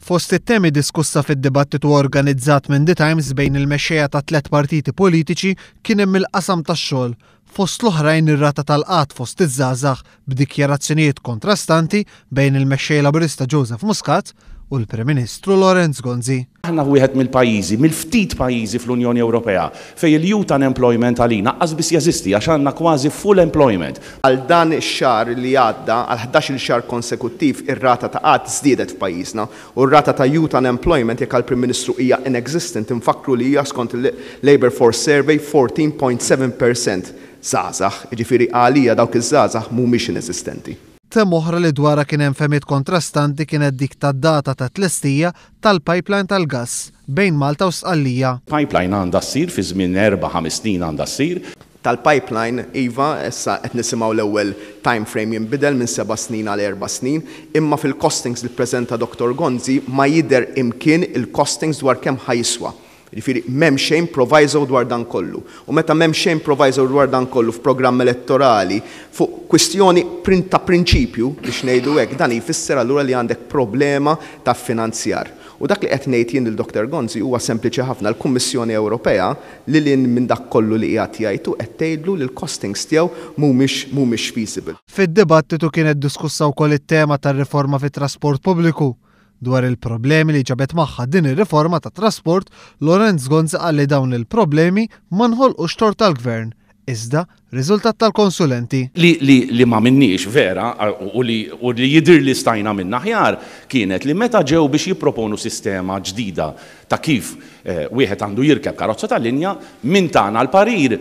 Fost it-temi diskussa fid-dibattitu organizzat minn The Times bejn il-mexxejja ta' tlett partiti politiċi kien hemm il-qasam tax-xogħol, fost l-oħrajn ir-rata tal-qgħad fost iż-żgħażagħ b'dikjarazzjonijiet kontrastanti bejn il-Mexxej Laburista Joseph Muscat u l-Prim Ministru Lawrence Gonzi. Aħna wieħed mill-pajjiżi, mill-ftit pajjiżi fl-Unjoni Ewropea fejn il-youth unemployment għalina qas biss jeżisti għax għandna kważi full employment. Għal dan ix-xahar li għadda, għal ħdax-il xahar konsekuttiv ir-rata ta' qgħad żdiedet f'pajjiżna u r-rata ta' youth unemployment jekk għall-Prim Ministru hija inexistent infakkru li hija skont il-Labour Force Survey 14.7 percent żgħażagħ, jiġifieri għalija dawk iż-żgħażagħ mhumiex ineżistenti. Tema oħra li dwarha kien hemm fehmiet kontrastanti kienet dik tad-data ta' tlestija tal-pipeline tal-gass bejn Malta u Sqallija. Pipeline għandha ssir fi żmien 4-5 snin għandha ssir. Tal-pipeline, iva, issa qed nisimgħu l-ewwel time frame jinbidel minn 7 snin għal 4 snin, imma fil-costings li ppreżenta Dr. Gonzi ma jidher imkien il-costings dwar kemm ħa jiswa. Jiġifieri m'hemm xejn proviso dwar dan kollu. U meta m'hemm xejn proviso dwar dan kollu f'programm elettorali fuq kwistjoni ta' prinċipju biex ngħidu hekk, dan jfisser allura li għandek problema ta' finanzjar. U dak li qed ngħid jien lil Dr. Gonzi huwa sempliċi ħafna: l-Kummissjoni Ewropea lil hinn minn dak kollu li qiegħed jgħidu qed tgħidlu li l-costings tiegħu mhumiex feasible. Fid-dibattitu kienet diskussa wkoll it-tema tar-riforma fit-trasport pubbliku. Dwar il-problemi li ġabet magħha din ir-riforma ta' trasport, Lawrence Gonzi qal li dawn il-problemi ma nħolqux tort tal-gvern, iżda riżultat tal-konsulenti. Li ma minniex vera u li jidir li stajna minna aħjar kienet li meta ġew biex jipproponu sistema ġdida ta' kif wieħed għandu jirkeb karozza tal-linja, min tana l-parir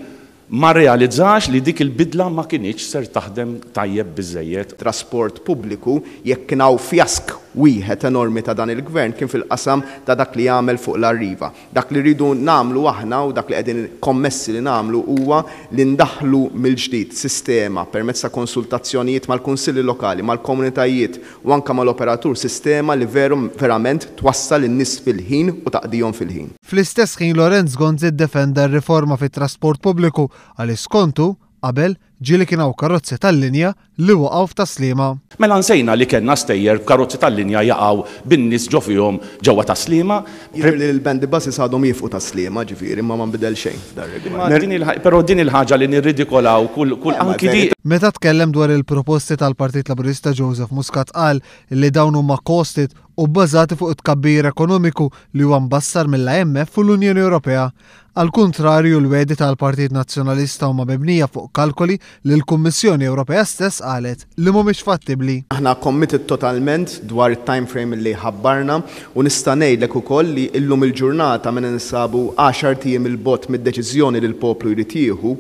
ma realizzax li dik il-bidla ma kinitx ser taħdem tajjeb biżejjed. Trasport pubbliku, jekk kien hawn fjask wieħed enormi ta' dan il-gvern kien fil-qasam ta' dak li jagħmel fuq l-Arriva. Dak li rridu nagħmlu aħna u dak li qegħdin kommessi li nagħmlu huwa li ndaħlu mill-ġdid sistema permezz ta' konsultazzjonijiet mal-kunsilli lokali, mal-komunitajiet u anke mal-operatur, sistema li veru verament twassal in-nies fil-ħin u taqdihom fil-ħin. Fl-istess ħin Lawrence Gonzi ddefenda r-riforma fit-trasport pubbliku għal skontu qabel ġieli kien hawn karozzi tal-linja li waqgħu f'Tas-Sliema. Mela nsejna li kellna stejjer b'karozzi tal-linja jaqgħu bin-nies ġo fihom ġewwa Tas-Sliema. Jidher li l-bendy buses għadhom jieqfu Tas-Sliema, ġifieri ma nbidel xejn f'dar rigward. Però din il-ħaġa li nirridikolaw kull anki di. Meta tkellem dwar il-proposti tal-Partit Laburista, Joseph Muscat qal li dawn huma costed u bbażati fuq it-tkabbir ekonomiku li huwa mbassar mill-IMF u l-Unjoni Ewropea. Al kontrarju, l-wegħdi tal-Partit Nazzjonalista huma mibnija fuq kalkoli li l-Kummissjoni Ewropea stess qalet li mhumiex fattibbli. Aħna committed totalment dwar it-time frame li ħabbarna u nista' ngħidlek ukoll li illum il-ġurnata minn ninsabu 10 ijiem 'il bogħod mid-deċiżjoni li l-poplu jrid jieħu,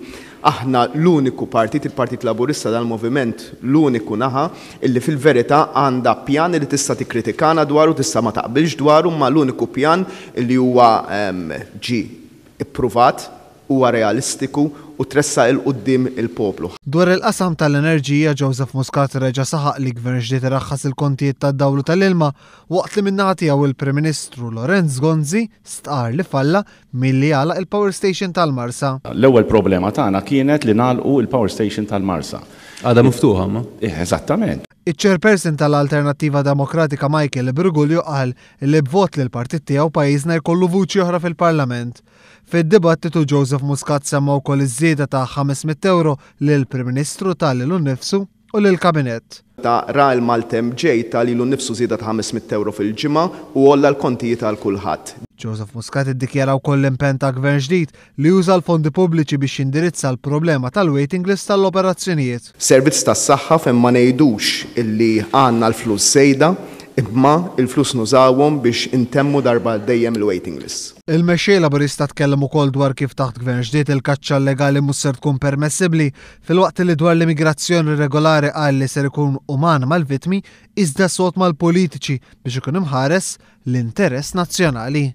aħna l-uniku partit, il-Partit Laburista, dal-moviment, l-uniku naħa illi fil-verità għandha pjan li tista' tikkritikana dwaru, tista' ma taqbilx dwaru, ma l-uniku pjan illi huwa ġi ippruvat, huwa realistiku u tressaq 'il quddiem il-poplu. Dwar il-qasam tal-enerġija, Joseph Muscat reġa' saħaq li gvern ġdid iraħħas il-kontijiet tad-dawl u tal-ilma, waqt li min-naħa tiegħu il-Prim Ministru Lawrence Gonzi stqar li falla milli għalaq il-power station tal-Marsa. L-ewwel problema tagħna kienet li nagħlqu il-power station tal-Marsa. Għada miftuħa ma? Eżattament. Iċ-chairperson tal-Alternattiva Demokratika Michael Briguglio qal li b'vot li l-partit tiegħu pajjiżna jkollu vuċi oħra fil-Parlament. Fid-dibattitu Joseph Muscat semma wkoll iż-żieda ta' 500 euro lil Prim Ministru ta lilu nnifsu u lil kabinett. Ta' ra l-maltemp ġej, ta lilu nnifsu żieda ta' 500 euro fil-ġimgħa u għolla l-kontijiet għal kulħadd. Joseph Muscat iddikjara wkoll l-impenn ta' gvern ġdid li juża l-fondi pubbliċi biex jindirizza l-problema tal-waiting list tal-operazzjonijiet. Servizz tas-saħħa fejn ma ngħidux illi għandna l-flus żejda, imma il-flus nużawhom biex intemmu darba dejjem il-waiting list. Il-mexxej Laburista tkellem ukoll dwar kif taħt gvern ġdid il-kaċċa illegali mhux ser tkun permessibbli, filwaqt li dwar l-immigrazzjoni regolari qal li ser ikun uman mal-vittmi iżda sod mal-politiċi biex ikun imħares l-interess nazzjonali.